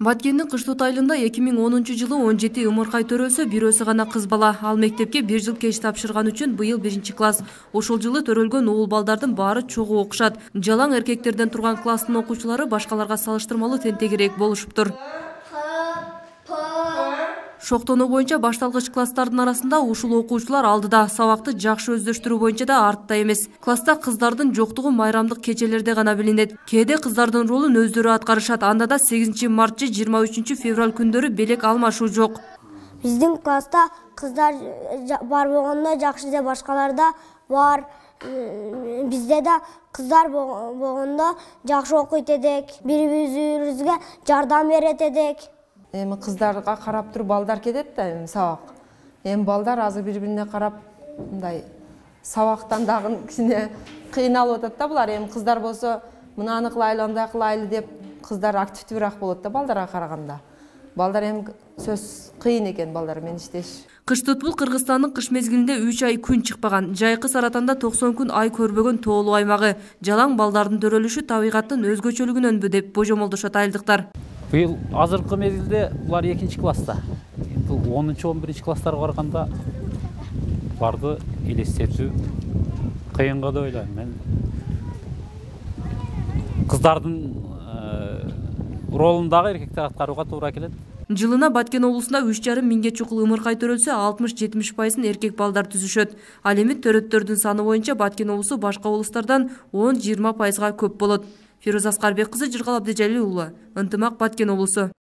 Баткендин Кыштут айылында 2010-жылы 17 ымыркай төрөлсө, бирөөсү гана кыз бала. Ал мектепке 1 жыл кеч тапшырган үчүн быйыл 1-класс. Ошол жылы төрөлгөн уул балдардын баары чогуу окушат. Жалаң эркектерден турган класстын окуучулары башкаларга салыштырмалуу тентегирээк болушуптур. Шоктонуу боюнча башталгыч класстардын арасында ушул окуучулар алдыда, сабакты жакшы өздөштүрүү боюнча да артта эмес. Класста кыздардын жоктугу майрамдык кечелерде гана билинет. Кээде кыздардын ролун өздөрү аткарышат. Анда да 8 март же 23 февраль күндөрү белек алмашуу жок. Биздин класста кыздар бар болгондо жакшы де башкаларда бар. Бизде да кыздар болгондо жакшы окуйт элек, бири-бирибизге жардам берет элек. Эми кыздарга карап туруп балдар кетет да эми сабак. Эми балдар азыр бири-бирине карап мындай сабактан дагы кичине кыйналып атат да булар. Эми кыздар болсо мынаны кылайлы, андай кылайлы деп кыздар активдүүрөөк болот да балдарга караганда. Балдар эми сөз кыйын экен балдар менен иштеш. Кыштут бул Кыргызстандын кыш мезгилинде 3 ай күн чыкпаган, жайкы Саратанда 90 күн ай көрбөгөн тоолуу аймагы. Жалаң балдардын төрөлүшү табигаттын өзгөчөлүгүнөнбү деп божомолдошот айылдыктар. Быйыл азыркы мезгилде булар 2-класста. Бул 10-11 класстарга барганда барды элестетүү кыйынга деп ойлойм мен. Кыздардын ролун дагы эркектер аткарууга туура келет. Жылына Баткен облусунда 3,5 миңге чукул ымыркай төрөлсө, 60-70% эркек балдар түзүшөт. Ал эми төрөттөрдүн саны боюнча Баткен облусу башка облустардан 10-20%га көп болот. Фируза Аскарбек кызы, Жыргал Абдыжалил уулу, Ынтымак, Баткен облусу.